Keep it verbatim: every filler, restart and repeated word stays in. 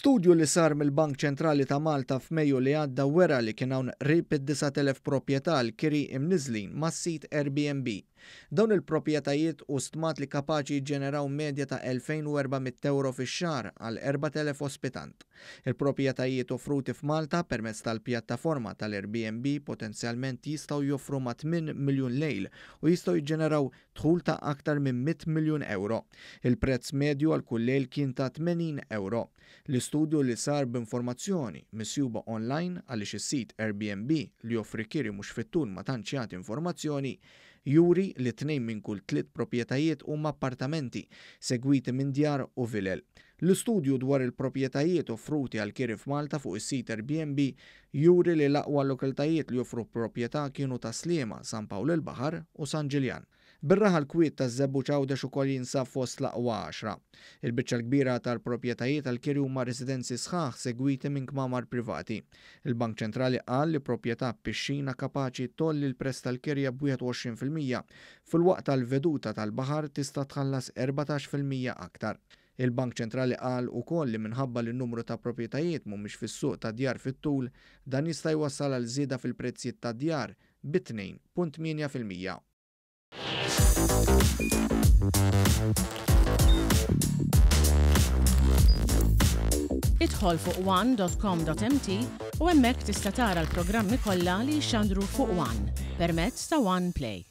Studju li sar mill-Bank Ċentrali ta' Malta f'Mejju li għadda wera li kien hawn qrib id-disat elef proprjetà għall-kiri imniżżlin mas-sit Airbnb. Dawn il-proprjetajiet hu stmat li kapaċi jiġġeneraw medja ta' elfejn u erba' mitt ewro fix-xahar għal erbat elef ospitant. Il-proprjetajiet offruti f'Malta permezz tal-pjattaforma tal-Airbnb potenzjalment jistgħu joffru ma' tmien miljun lejl u jistgħu jiġġeneraw dħul ta' aktar minn mitt miljun ewro. Il-prezz medju għal kull lejl kien ta' tmenin ewro. L-istudju li sar b'informazzjoni misjuba online għaliex is-sit Airbnb li joffri kiri mhux fit-tul ma tantx jagħti informazzjoni, juri li tnejn minn kull tliet proprjetajiet huma appartamenti, segwiti minn djar u vilel. L-istudju dwar il-proprjetajiet offruti għal kiri f'Malta fuq is-sit Airbnb juri li l-aqwa lokalitajiet li joffru proprjetà kienu ta' Sliema, San Pawl il-Baħar u San Ġiljan. Bir-raħal kwiet ta' Żebbuġ Għawdex ukoll jinsab fost l-aqwa għaxra. Il-biċċa l-kbira tal-proprjetajiet għal-kiri huma residenzi sħaħ segwiti minn kmamar privati. Il-Bank Ċentrali qal li proprjetà b'pixxina kapaċi tgħolli l-prezz tal-kirja b'wieħed u għoxrin fil-mija, filwaqt tal-veduta tal-baħar tista' tħallas erbatax fil-mija aktar. Il-Bank Ċentrali qal ukoll li minħabba li n-numru ta' proprjetajiet mhumiex fis-suq ta' djar fit-tul, dan jista' jwassal għal żieda fil-prezzijiet ta' djar bi tnejn punt tmienja fil-mija. Idħol fuq one dot com dot m t u hemmhekk tista' tara l-programmi kollha li jixxandru fuq One permezz ta' One Play.